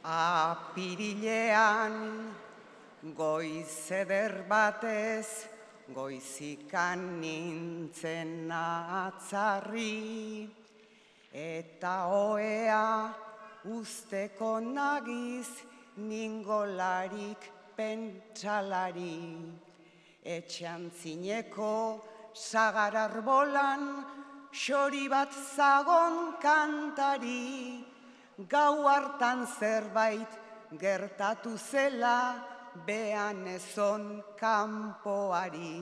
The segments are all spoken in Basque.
Apirilean goiz eder batez, goizikan nintzen atzarri, eta oea usteko nagiz ningolarik pentsalari. Etxean zineko sagar arbolan, xori bat zagon kantari, gau hartan zerbait gertatu zela behan ezon kanpoari.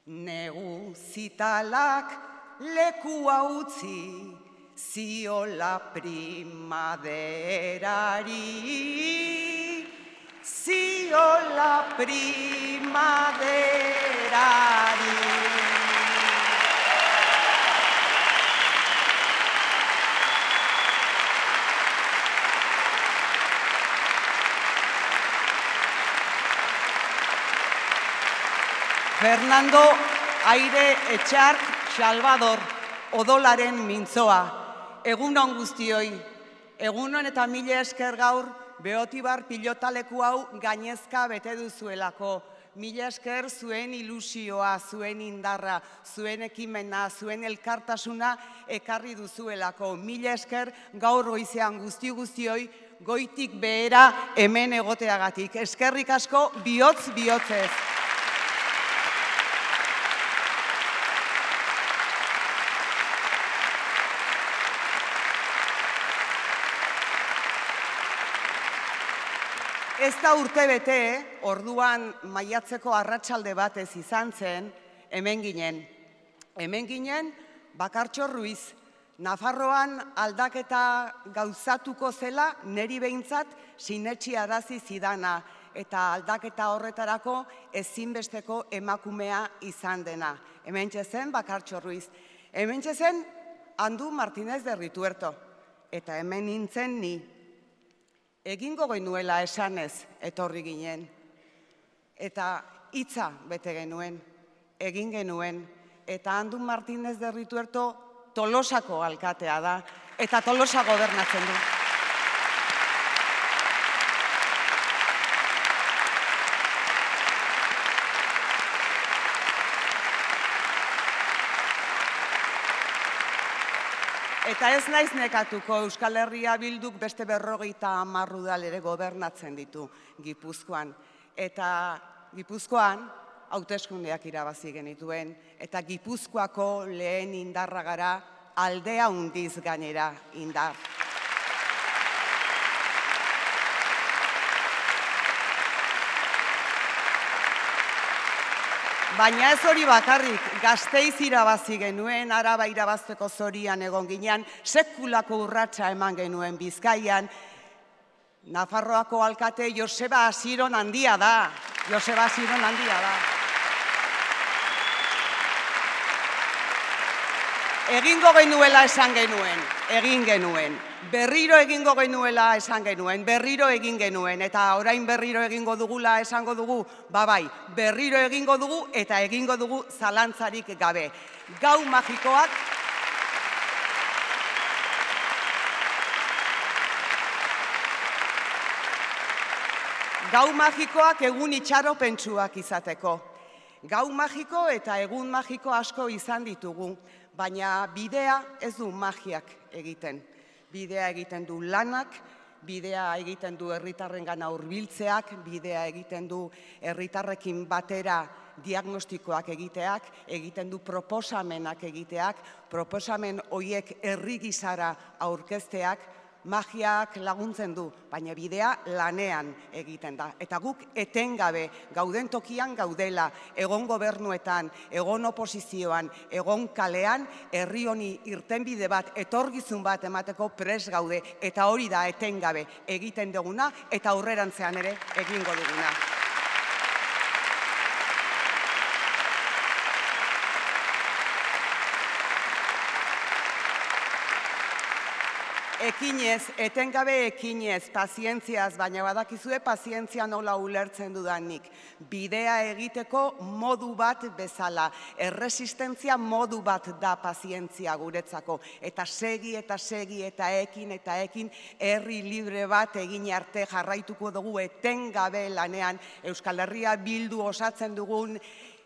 Negu zitalak lekua utzi ziola primaderari, ziola primaderari. Fernando Aire Etxark Salvador odolaren mintzoa. Egunon guztioi, egunon eta mila esker gaur Beotibar pilotaleku hau gainezka bete duzuelako. Mila esker zuen ilusioa, zuen indarra, zuen ekimena, zuen elkartasuna ekarri duzuelako. Mila esker gaur goizean guztioi goitik behera hemen egoteagatik. Eskerrik asko bihotz-bihotzez. Ez da urte bete, orduan maiatzeko arratsalde batez izan zen, hemen ginen. Hemen ginen, Bakartxo Ruiz, Nafarroan aldaketa gauzatuko zela, neri behintzat sinetsi arazi zidana, eta aldaketa horretarako ezinbesteko emakumea izan dena. Hemen zen Bakartxo Ruiz. Hemen zen Andu Martínez de Rituerto, eta hemen nintzen ni. Egingo genuela esanez etorri ginen, eta hitza bete genuen, egin genuen, eta Andu Martínez de Rituerto Tolosako alkatea da, eta Tolosa gobernatzen du. Eta ez naiz nekatuko, Euskal Herria Bilduk beste 50 udal ere gobernatzen ditu Gipuzkoan. Eta Gipuzkoan hauteskundeak irabazi genituen, eta Gipuzkoako lehen indarra gara, aldea handiz gainera indar. Baina ez hori bakarrik, Gasteiz irabazi genuen, Araba irabazteko zorian egon ginean, sekulako urratsa eman genuen Bizkaian, Nafarroako alkate Joseba Asiron handia da, Joseba Asiron handia da. Egingo genuela esan genuen, egin genuen. Berriro egingo genuela esan genuen, berriro egin genuen, eta orain berriro egingo dugula esango dugu, bai, berriro egingo dugu eta egingo dugu zalantzarik gabe. Gau magikoak Gau magikoak egun itxaropentsuak izateko. Gau magiko eta egun magiko asko izan ditugu, baina bidea ez du magiak egiten. Bidea egiten du lanak, bidea egiten du herritarrengana hurbiltzeak, bidea egiten du herritarrekin batera diagnostikoak egiteak, egiten du proposamenak egiteak, proposamen horiek herri gisara aurkezteak, magiak laguntzen du, baina bidea lanean egiten da. Eta guk etengabe gauden tokian gaudela, egon gobernuetan, egon oposizioan, egon kalean, herri honi irtenbide bat, etorkizun bat emateko prest gaude, eta hori da etengabe egiten duguna, eta aurrerantzean ere egingo duguna. Ekinez, etengabe ekinez, pazientziaz, baina badakizue pazientzia nola ulertzen dudanik. Bidea egiteko modu bat bezala, erresistentzia modu bat da pazientzia guretzako. Eta segi eta ekin, herri libre bat egin arte jarraituko dugu etengabe lanean Euskal Herria Bildu osatzen dugun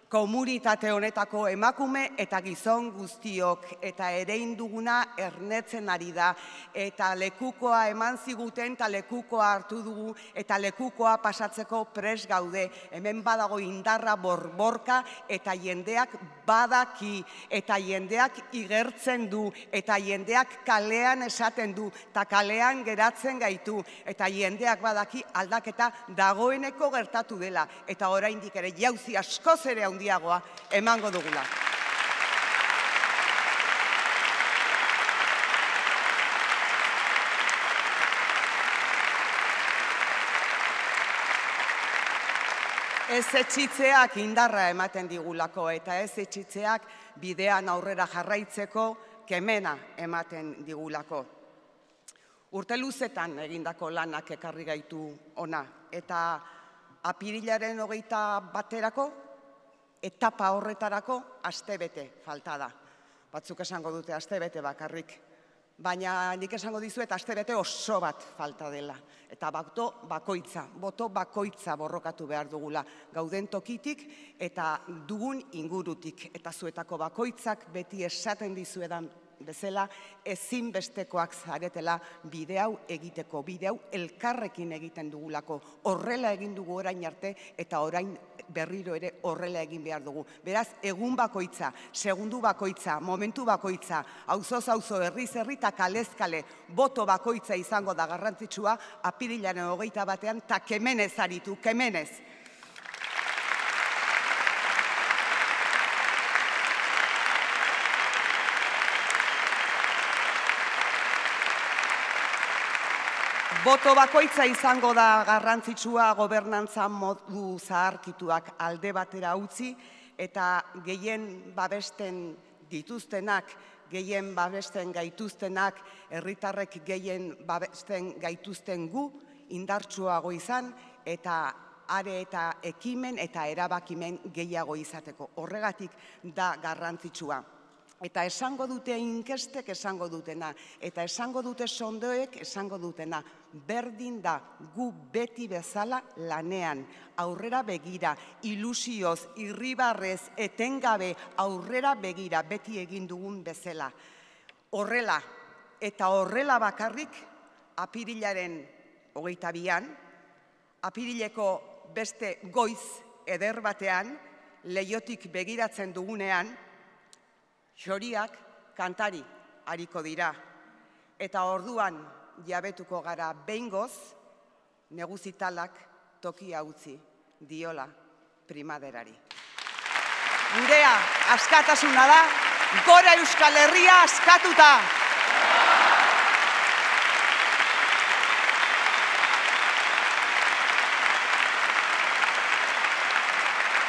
komunitate honetako emakume eta gizon guztiok, eta erein duguna ernetzen ari da, eta lekukoa eman ziguten, eta lekukoa hartu dugu, eta lekukoa pasatzeko pres gaude. Hemen badago indarra borborka, eta jendeak badaki, eta jendeak igertzen du, eta jendeak kalean esaten du, eta kalean geratzen gaitu, eta jendeak badaki aldaketa dagoeneko gertatu dela, eta oraindik ere jauzi askoz ere handiagoa emango dugula. Ez etxitzeak indarra ematen digulako, eta ez etxitzeak bidean aurrera jarraitzeko kemena ematen digulako. Urte luzetan egindako lanak ekarri gaitu ona, eta apirilaren 21-erako, etapa horretarako astebete falta da. Batzuk esango dute astebete bakarrik, baina nik esango dizuet astebete oso bat falta dela. Eta boto bakoitza borrokatu behar dugula, gauden tokitik eta dugun ingurutik. Eta zuetako bakoitzak beti esaten dizuedan bezala ezinbestekoak zaretela bide hau egiteko, bide hau elkarrekin egiten dugulako. Horrela egin dugu orain arte eta orain berriro ere horrela egin behar dugu. Beraz, egun bakoitza, segundu bakoitza, momentu bakoitza, auzoz auzo, herriz herri eta kalez kale, boto bakoitza izango da garrantzitsua, apirilaren 21-ean, eta kemenez aritu, kemenez. Boto bakoitza izango da garrantzitsua gobernantza modu zaharkituak alde batera utzi eta gehien babesten dituztenak, gehien babesten gaituztenak, herritarrek gehien babesten gaituzten gu indartsuago izan eta are eta ekimen eta erabakimen gehiago izateko. Horregatik da garrantzitsua. Eta esango dute inkestek esango dutena, eta esango dute sondoek esango dutena, berdin da gu beti bezala lanean, aurrera begira, ilusioz, irribarrez, etengabe, aurrera begira, beti egin dugun bezala. Horrela, eta horrela bakarrik, apirilaren 22-an, apirileko beste goiz eder batean, Leiotik begiratzen dugunean, xoriak kantari hariko dira, eta orduan jabetuko gara behingoz, neguzitalak tokia utzi diola primaderari. Gurea askatasuna da, gora Euskal Herria askatuta!